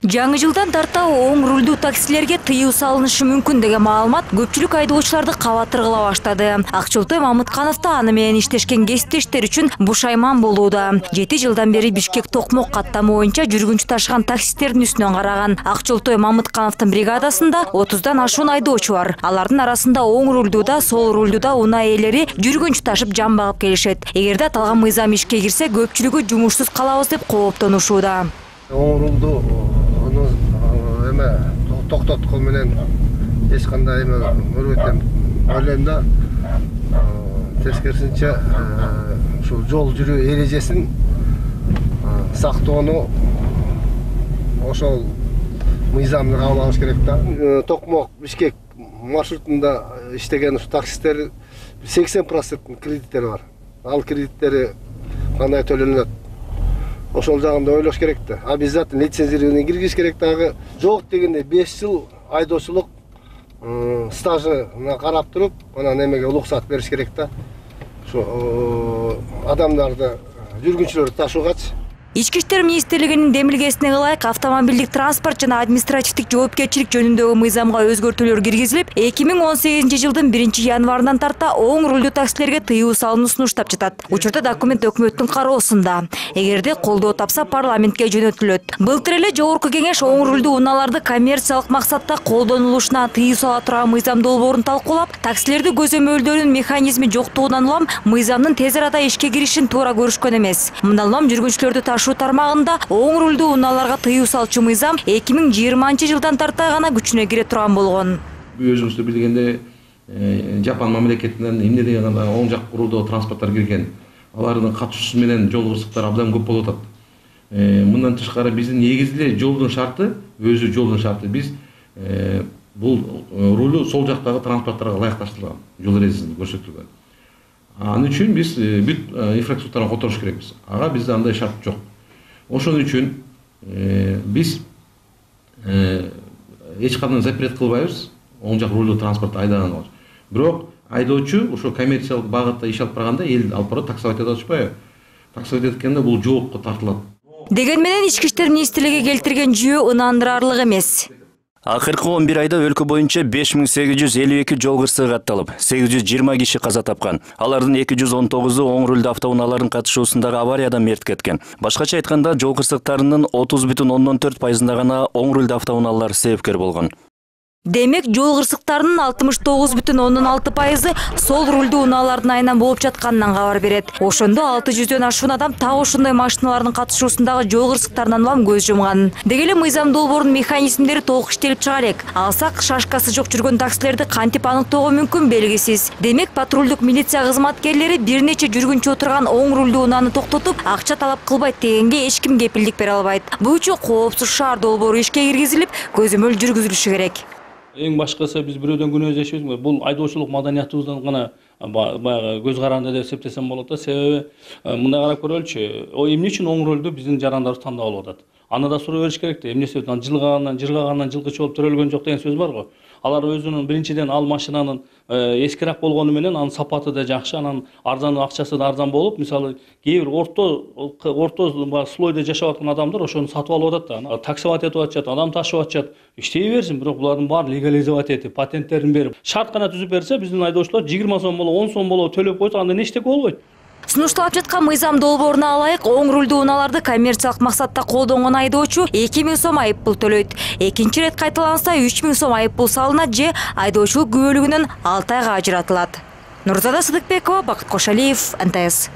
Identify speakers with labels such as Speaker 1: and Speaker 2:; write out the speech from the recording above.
Speaker 1: Жаңы жылдан тарта оң рулдуу таксилерге тыюу салынышы мүмкүн деген маалымат көпчүлүк айдоочуларды кабатыр кыла баштады. Акчолтой Мамытканов да аны менен иштешкен кесиптештери үчүн бушайман болууда. 7 жылдан бери Бишкек Токмок каттамы боюнча жүргүнчү ташыган таксистердин үстүнөн караган. Акчолтой Мамыткановдун бригадасында 30дан ашуун айдоочу бар. Алардын арасында оң рулдуу да, сол рулдуу да унаа ээлери жүргүнчү ташып жан багып келишет. Эгерде аталган мыйзам ишке кирсе, көпчүлүгү жумушсуз калабыз деп кооптонушууда.
Speaker 2: Оң рулдуу эме токтоткон менен эч кандай эме көрбөйт деп ойлойм да. Тескерисинче ушул жол жүрүү эрежесин сактоону ошол мыйзамды кабыл алыш керек да. Токмок Бишкек маршрутунда иштеген ушу таксисттер 80% кредиттери бар. Ал кредиттери кандай төлөнөт? Ошол жагында ойлош керек да. Обязательно лицензирование киргизиш керек дагы. Жок дегенде 5 жыл айдоочулук стажына карап туруп, анан эмеге уруксат бериш керек да. Ошо адамдарды, жүргүнчүлөрдү ташуугачы.
Speaker 1: Ички иштер министрлигинин демилгесине ылайык автомобилдик транспорт жана административдик жоопкерчилик жөнүндөгү мыйзамга өзгөртүүлөр киргизилип, 2018 жылдын 1 январынан тарта оң рулдуу таксилерге тыюу салынуу сунуштап жатат. Учурда документ өкмөттүн кароосунда. Эгерде колдоо тапса, парламентке жөнөтүлөт. Былтыр эле жогорку кеңеш оң рулдуу унааларды коммерциялык максатта колдонулушуна тыюу сала турган мыйзам долбоорун талкуулап, таксилерди көзөмөлдөөнүн механизми жоктугунан улам мыйзамдын тез арада ишке киришин туура көрүшкөн эмес. Мындан улам жүргүнчүлөрдү ташуу тармагында оң рулдуу унааларга тыюу салчу мыйзам 2020 жылдан тарта гана күчүнө кире турган болгон.
Speaker 3: Өзүңүз билгендей, Жапон мамлекетинен эмне деген оң жак рулдуу транспорттор кирген. Алардын катышуусу менен жол кырсыктары абдан көп болуп атат. Мындан тышкары биздин негизги жолдун шарты, өзү жолдун шарты биз бул рулу сол жактагы транспортторго ылайыкташтырылган, жол эрежесинде көрсөтүлгөн. Анын үчүн биз бүт инфраструктураны которуш керекпиз. Ага бизде андай шарт жок. Ошон үчүн биз эч кандай запрет кылбайбыз оң жак рулдуу транспортто айдаганга. Бирок айдоочу ошо коммерциялык багытта иш алып барганда эл алып барып таксовать этип атышпайбы? Таксовать эткенде бул жоопко тартылат.
Speaker 1: Деген менен ички иштер министрлиги келтирген жүйө ынандырарлык эмес.
Speaker 4: Акыркы 11 айда өлкө боюнча 5852 жол кырсыгы катталып, 820 киши каза тапкан. Алардын 219-у оң рулдуу автоунаалардын катышуусундагы авариядан мерт кеткен. Башкача айтканда, жол кырсыктарынын 30,4% гана оң рулдуу автоунаалар себепкер болгон.
Speaker 1: Демек, жол кырсыктарынын 69,6% сол рулдуу унаалардын айынан болуп жатканынан кабар берет. Ошондо 600дөн ашуун адам так ошондой машиналардын катышуусундагы жол кырсыктарынан улам көз жумган. Деги эле мыйзам долбоорунун механизмдери толук иштелип чыга элек. Алсак, шашкасы жок жүргөн таксилерди кантип аныктоого мүмкүн белгисиз. Демек, патрулдук милиция кызматкерлери бир нече жүргүнчү отурган оң рулдуу унааны токтотуп, акча талап кылбайт дегенге эч ким кепилдик бере албайт. Бул үчүн коопсуз шаар долбоору ишке киргизилип, көзөмөл жүргүзүлүшү керек.
Speaker 5: Эң башкысы биз бирөөдөн күнөөбүз жашайбыз. Бул айдоочулук маданиятыбыздан гана баягы көз каранды деп эсептесем болот да. Себеби мындай карап көрөлүчү. Эмне үчүн оң рулду биздин жарандарыбыз тандап алып атат? Аны да суроо бериш керек да. Эмне себептен жыргагандан жылкычы болуп төрөлгөн жок деген сөз бар го. Алар өзүнүн биринчиден ал машинанын эскирак болгону менен анын сапаты да жакшы, анан арзан акчасы да арзан болуп, мисалы кээ бир орто слойдо жашап аткан адамдар ошону сатып алып атат да. Таксовать этип атышат, адам ташып атышат. Иштей берсин, бирок булардын баары легализовать этип, патенттерин берип, шарт гана түзүп берсе, биздин айдоочулар 20 сом болобу, 10 сом болобу төлөп койсо, анда эчтеке болбойт.
Speaker 1: Сунушталып жаткан мыйзам долбооруна ылайык оң рулдуу унааларды коммерциялык максатта колдонгон айдоочу 2000 сом айыппул төлөйт. Экинчи ирет кайталанса 3000 сом айыппул салынат же айдоочулук күбөлүгүнөн 6 айга ажыратылат. Нурзада Сыдыкбекова, Бакыт Кошалиев, НТС.